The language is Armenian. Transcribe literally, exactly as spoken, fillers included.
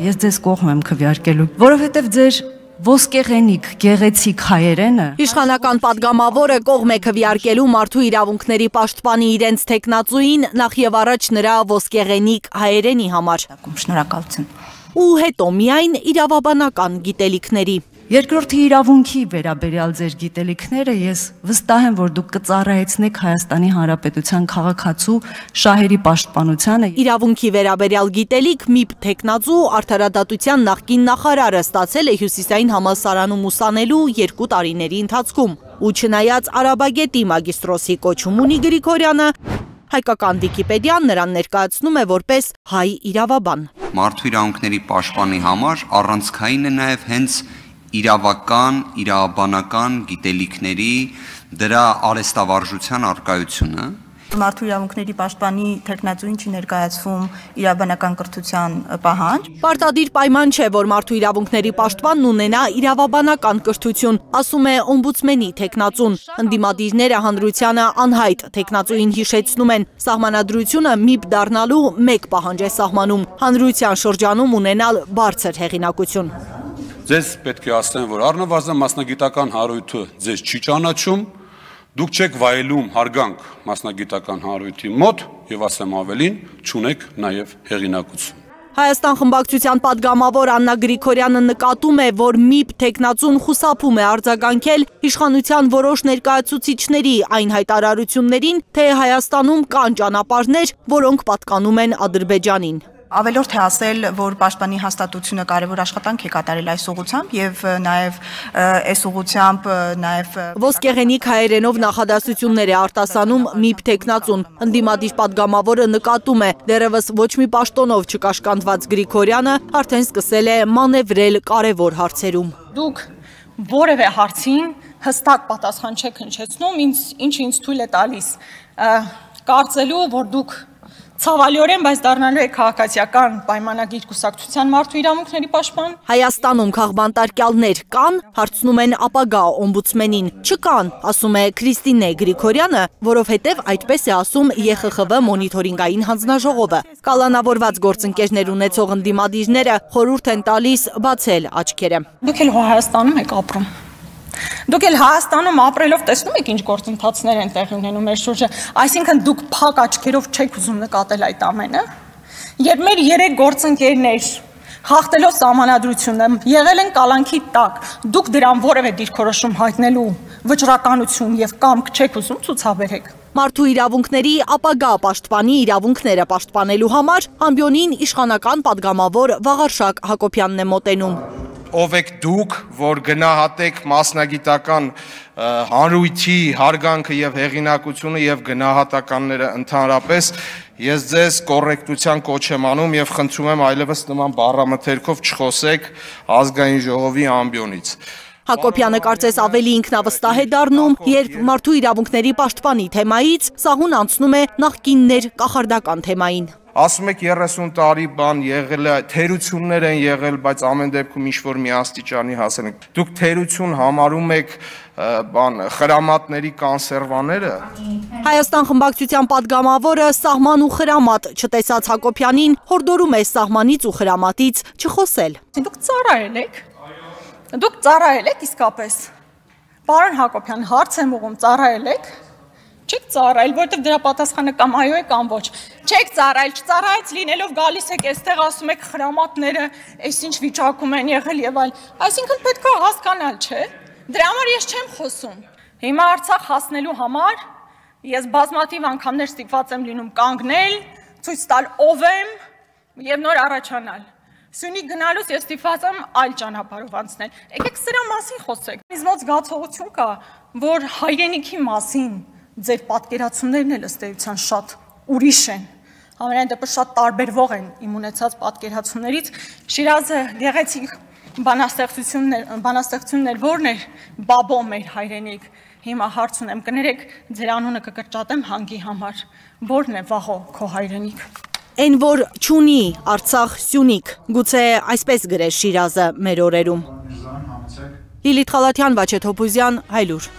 Ես ձեզ կողմ եմ քվեարկելու, որովհետև ձեր ոսկեղենիկ, գեղեցիկ հայերենը Իշխանական падգամավորը կողմ է քվեարկելու մարդու իրավունքների պաշտպանի իրենց տեխնացուին նախ եւ առաջ նրա ոսկեղենիկ հայերենի համար։ Շնորհակալություն։ Ու հետո միայն իրավաբանական գիտելիքների։ Երկրորդի իրավունքի վերաբերյալ ձեր գիտելիքները ես վստահ եմ, որ դուք կծառայեցնեք Հայաստանի Հանրապետության քաղաքացու շահերի պաշտպանությանը։ Իրավունքի վերաբերյալ գիտելիք ՄԻՊ տեխնացու արդարադատության նախկին նախարարը ստացել է Հյուսիսային համալսարանում ուսանելու երկու տարիների ընթացքում։ Ու չնայած արաբագետի մագիստրոսի կոչում ունի Գրիգորյանը, հայկական Վիկիպեդիան նրան ներկայացնում է որպես հայ իրավաբան։ Մարդու իրավունքների պաշտպանի համար առանցքային է նաև հենց իրավական, իրավաբանական գիտելիքների դրա արհեստավարժության առկայությունը։ Մարդու իրավունքների պաշտպանի տեխնացուին չի ներկայացվում իրավաբանական կրթության պահանջ։ Պարտադիր պայման չէ, որ մարդու իրավունքների պաշտպանն ունենա իրավաբանական կրթություն, ասում է օմբուդսմենի տեխնացուն։ Ընդդիմադիրները հանրությանը անհայտ տեխնացուին հիշեցնում են, սահմանադրությունը ՄԻՊ դառնալու մեկ պահանջ է սահմանում՝ հանրության շրջանում ունենալ բարձր հեղինակություն։ Ձեզ պետք է ասեմ, որ առնվազն մասնագիտական հարույթը ձեզ չի ճանաչում, դուք չեք վայելում հարգանք մասնագիտական հարույթի մոտ եւ ասեմ ավելին, չունեք նաեւ հեղինակություն։ Հայաստան խմբակցության падգամավոր Աննա Գրիգորյանը նկատում է, որ ՄԻՊ տեխնացուն խուսափում է արձագանքել իշխանության որոշ ներկայացուցիչների այն հայտարարություններին, թե Հայաստանում կան ճանապարհներ, որոնք պատկանում են Ադրբեջանին։ Ավելորդ է ասել, որ պաշտպանի հաստատությունը կարևոր աշխատանք է կատարել այս ուղղությամբ եւ նաեւ այս ուղղությամբ նաեւ ոսկեղենիկ հայերենով նախադասություններ է արտասանում ՄԻՊ տեխնացուն։ Ընդդիմադիր падգամավորը նկատում է, դեռևս ոչ մի պաշտոնով չկաշկանդված Գրիգորյանը արդեն սկսել է մանևրել կարևոր հարցերում։ Դուք որևէ հարցին հստակ պատասխան չեք հնչեցնում, ինչը ինձ թույլ է տալիս կարծելու, որ դուք ցավալիորեն, բայց դառնալու է քաղաքացիական պայմանագիր կուսակցության մարդու իրավունքների պաշտպան։ Հայաստանում քաղբանտարկյալներ կան, հարցնում են ապագա օմբուդսմենին։ Չկան, ասում է Քրիստինե Գրիգորյանը, որովհետև այդպես է ասում Ե Խ Խ V մոնիթորինգային հանձնաժողովը։ Կալանավորված գործընկերներ ունեցող ընդդիմադիրները խորհուրդ են տալիս բացել աչքերը։ Դուք էլ Հայաստանում եք ապրում։ Դուք էլ Հայաստանում ապրելով տեսնում եք ինչ գործընթացներ են տեղի ունենում մեր շուրջը, այսինքն դուք փակ աչքերով չեք ուզում նկատել այդ ամենը։ Երբ մեր երեք գործընկերներ հաղթելով սահմանադրությունը եղել են կալանքի տակ, դուք դրան որևէ դիրքորոշում հայտնելու վճռականություն եւ կամք չեք ուզում ցուցաբերեք։ Մարդու իրավունքների ապագա պաշտպանի իրավունքները պաշտպանելու համար ամբիոնին իշխանական падգամավոր Վաղարշակ Հակոբյանն է մոտենում։ Ով եք դուք, որ գնահատեք մասնագիտական հանրույթի հարգանքը եւ հեղինակությունը եւ գնահատականները ընդհանրապես, ես ձեզ կոռեկտության կոչ եմ անում եւ խնդրում եմ այլևս նման բառամթերքով չխոսեք ազգային ժողովի ամբիոնից։ Հակոբյանը կարծես ավելի ինքնավստահ է դառնում, երբ մարդու իրավունքների պաշտպանի թեմայից սահուն անցնում է նախկիններ կախարդական թեմային։ Ասում եք երեսուն տարի բան եղել է, թերություններ են եղել, բայց ամեն դեպքում ինչ-որ մի աստիճանի հասել ենք։ Դուք թերություն համարում եք բան խրամատների կոնսերվաները։ Հայաստան խմբակցության падգամավորը սահման ու խրամատ չտեսած Հակոբյանին հորդորում է սահմանից ու խրամատից չխոսել։ Դուք ծառայել եք։ Դուք ծառայել եք իսկապես։ Պարոն Հակոբյան, հարց եմ ուղղում, ծառայել եք։ Չեք ծառայել, որովհետև դրա պատասխանը կամ այո է կամ ոչ։ Չեք ծառայել, չծառայեց լինելով գալիս եք այստեղ ասում եք խրամատները, այսինչ վիճակում են եղել եւ այլ։ Այսինքն պետք է հասկանալ, չէ՞։ Դրա համար ես չեմ խոսում։ Հիմա Արցախ հասնելու համար ես բազմաթիվ անգամներ ստիպված եմ լինում կանգնել, ցույց տալ ով եմ եւ նոր առաջանալ։ Սյունիք գնալուց ես ստիպված եմ այլ ճանապարհով անցնել։ Եկեք սրա մասին խոսենք։ Ինձ մոտ զգացողություն կա, որ հայրենիքի մասին ձեր պատկերացումներն էլ ըստ էության շատ ուրիշ են։ Համենայն դեպս շատ տարբերվող են իմ ունեցած պատկերացումներից։ Շիրազը գեղեցիկ բանաստեղծություններ, բանաստեղծություններ որն էր բաբո մեր հայրենիք։ Հիմա հարց ունեմ, կներեք, ձեր անունը կկրճատեմ հանգի համար։ Որն է վաղո քո հայրենիք։ Այն որ չունի Արցախ Սյունիք, գուցե այսպես գրեր Շիրազը մեր օրերում։ Լիլիթ Խալաթյան, Վաչե Թոփուզյան, Հայլուր։